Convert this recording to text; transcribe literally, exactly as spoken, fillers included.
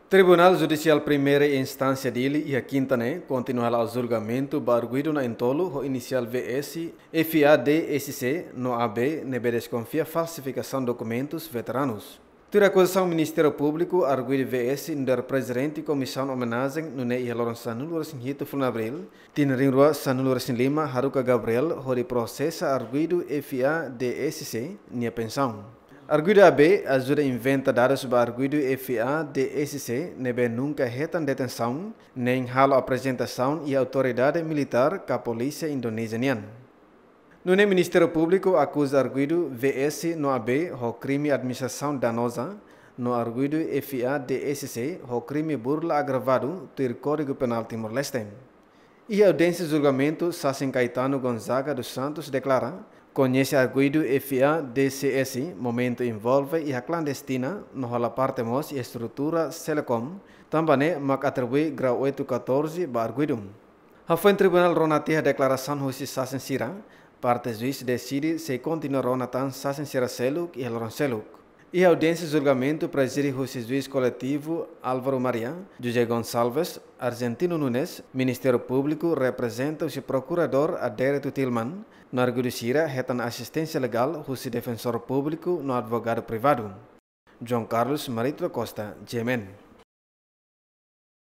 Tribunál Judisiál Primeira Instánsia Dili iha kinta ne'e kontinua halo julgamentu ba arguidu na'in-tolu ho inisiál V S, F A D S C no A B ne'ebé deskonfia falsifikasaun dokumentus veteranus. Tuir akuzasaun Ministériu Públiku, arguidu V S nu'udar prezidente Komisaun Omenajen nune'e iha loron sanulu-resin-hitu fulan Abríl, tinan rihun rua sanulu-resin-lima haruka Gabriel hodi prosesa arguidu F A D S C nia pensaun. Arguidu A B ajuda inventa dadus ba arguidu F A D S C ne'ebé nunka hetan detensaun, nein halo aprezentasaun iha autoridade militár ka polísia Indonézia nian. Nune'e Ministériu Públiku akuza arguidu V S no A B ho krime administrasaun danoza, no arguidu F A D S C ho krime burla agravadu tuir Kódigu Penál Timor-Leste. Iha audiénsia julgamentu, sasin Caetano Gonzaga dos Santos deklara, koñese arguidu F A D S C momentu envolve iha klandestina, no hola parte mós iha estrutura Selecom, tanba ne'e mak atribui grau oito catorze ba arguidu. Hafoin tribunál rona tiha deklarasaun husi sasin sira, parte juís deside sei kontinua rona tan sasin sira seluk iha loron seluk. Iha audiénsia julgamentu prezide husi juís koletivu Álvaro Maria, José Gonçalves, Argentino Nunes, Ministériu Públiku reprezenta husi Prokuradór Adérito Tilman, no arguidu sira hetan asisténsia legál husi defensór públiku no advogadu privadu. João Carlos Marito da Costa, G M N.